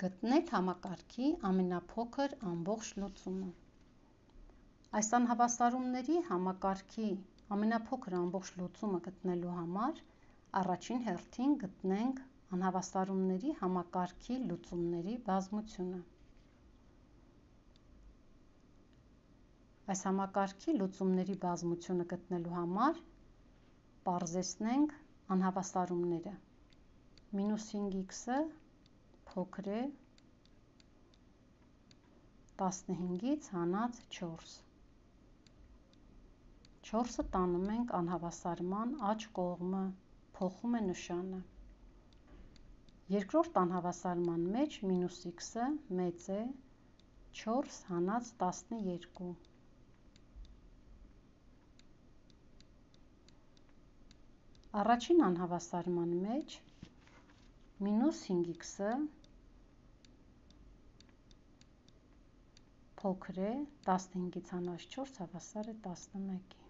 Գտնեք համակարգի ամենափոքր ամբողջ լուծումը։ Այս անհավասարումների համակարգի ամենափոքր ամբողջ լուծումը գտնելու համար առաջին հերթին գտնենք անհավասարումների համակարգի լուծումների բազմությունը։ Այս համակարգի լուծումների բազմությունը գտնելու համար պարզեցնենք անհավասարումները։ -5x-ը փոքր է 15-ից հանած 4։ 4-ը տանում ենք անհավասարման աջ կողմը, փոխում է նշանը։ Երկրորդ անհավասարման մեջ -x-ը մեծ է 4 հանած 12։ Առաջին անհավասարման մեջ -5x-ը փոքր է 15-ից հանած 4 հավասար է 11-ի։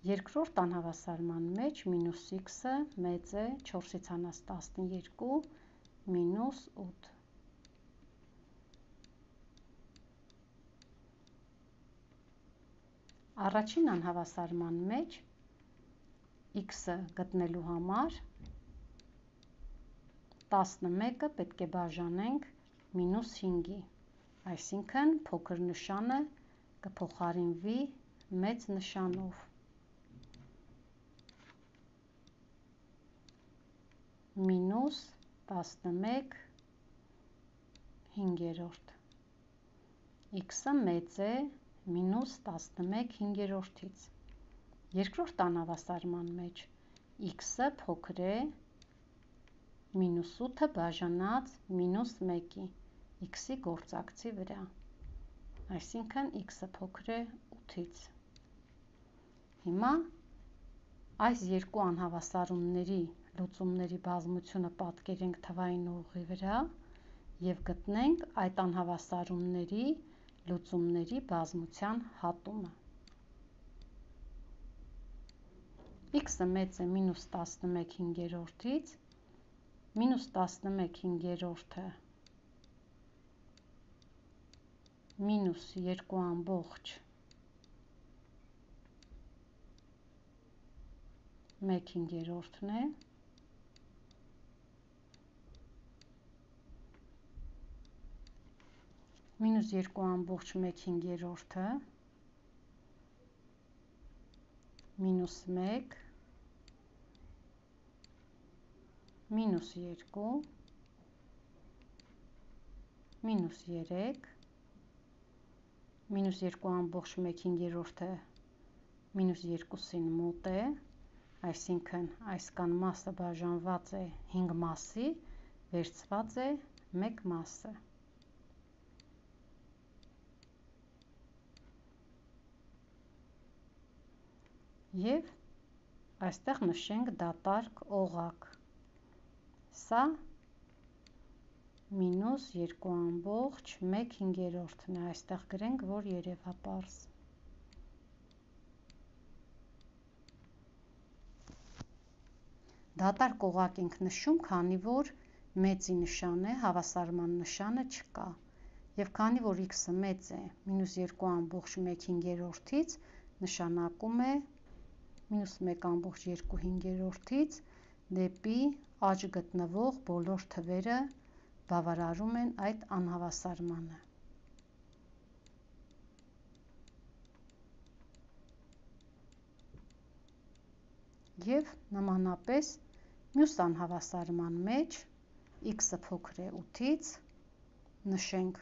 Երկրորդ անհավասարման մեջ -x-ը մեծ է 4-ից հանած 12 -8։ Առաջին անհավասարման մեջ x-ը գտնելու համար 11-ը պետք է բաժանենք -5-ի, այսինքն փոքր նշանը կփոխարինվի մեծ նշանով։ -11 հինգերորդ։ x-ը մեծ է -11 հինգերորդից։ Երկրորդ անհավասարման մեջ x-ը փոքր է -8-ը բաժանած -1-ի x-ի գործակցի վրա, այսինքն x-ը փոքր է 8-ից։ Հիմա այս երկու անհավասարումների լուծումների բազմությունը պատկերենք թվային ուղղի վրա և գտնենք այդ անհավասարումների լուծումների բազմության հատումը։ x-ը մեծ է -11 հինգերորդից, -11 հինգերորդը -2 ամբողջ 1 հինգերորդն է, -2 ամբողջ 1 հինգերորդը -1 -2 -3 -2 ամբողջ 1 հինգերորդը -2-ին մոտ է, այսինքն այս կան մասը բաժանված է 5 մասի, վերցված է 1 մասը։ Եվ այստեղ նշենք դատարկ օղակ։ Սա -2 ամբողջ 1 հինգերորդն է, այստեղ գրենք, որ երևապարզ։ Դատարկ օղակ ենք նշում, քանի որ մեծի նշան է, հավասարման նշանը չկա։ Եվ քանի որ x-ը մեծ է -2 ամբողջ 1 հինգերորդից, նշանակում է -1 ամբողջ 2 հինգերորդից դեպի աջ գտնվող բոլոր թվերը բավարարում են այդ անհավասարմանը։ Եվ նմանապես մյուս անհավասարման մեջ x-ը փոքր է 8-ից, նշենք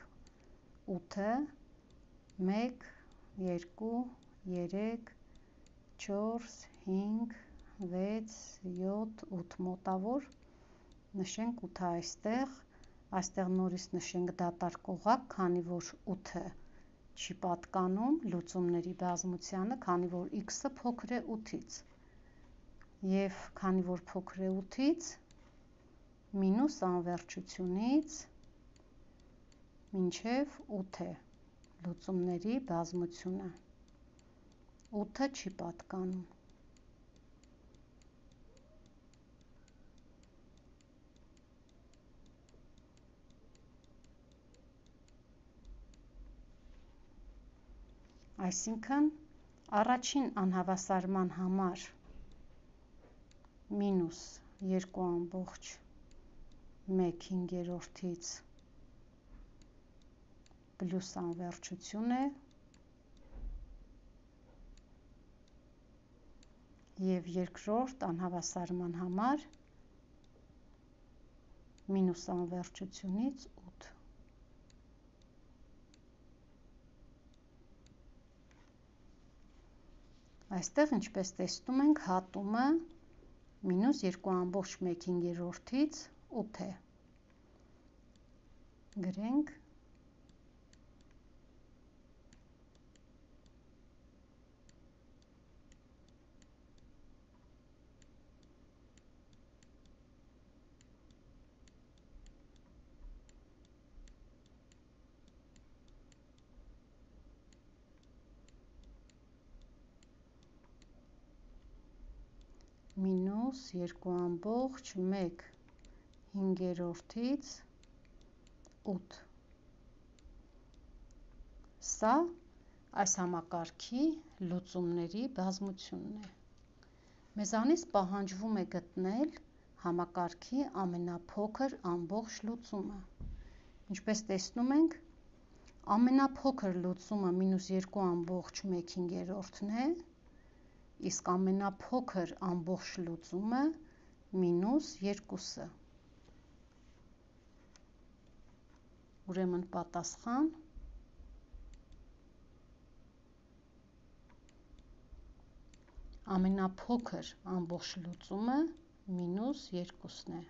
8-ը 1, 2, 3, 4, 5, 6, 7, 8 մոտավոր, նշենք 8-ը այստեղ նորից նշենք դատարկ օղակ, քանի որ 8-ը չի պատկանում լուծումների բազմությանը, քանի որ x-ը փոքր է 8-ից։ Եվ քանի որ փոքր է 8-ից, մինուս անվերջությունից մինչև 8 է լուծումների բազմությունը։ 8-ը չի պատկանում։ Այսինքն առաջին անհավասարման համար մինուս 2,1/5 պլյուս անվերջություն է և երկրորդ անհավասարման համար մինուս անվերջությունից 8։ Այստեղ, ինչպես տեսնում ենք, հատումը մինուս 2,1/5-ից 8 է։ Գրենք մինուս 2,1/5-ից 8։ Սա այս համակարգի լուծումների բազմությունն է։ Մեզանից պահանջվում է գտնել համակարգի ամենափոքր ամբողջ լուծումը։ Ինչպես տեսնում ենք, ամենափոքր լուծումը մինուս 2,1/5-ն է, իսկ ամենափոքր ամբողջ լուծումը մինուս 2-ը։ Ուրեմն պատասխան ամենափոքր ամբողջ լուծումը մինուս 2-ն է։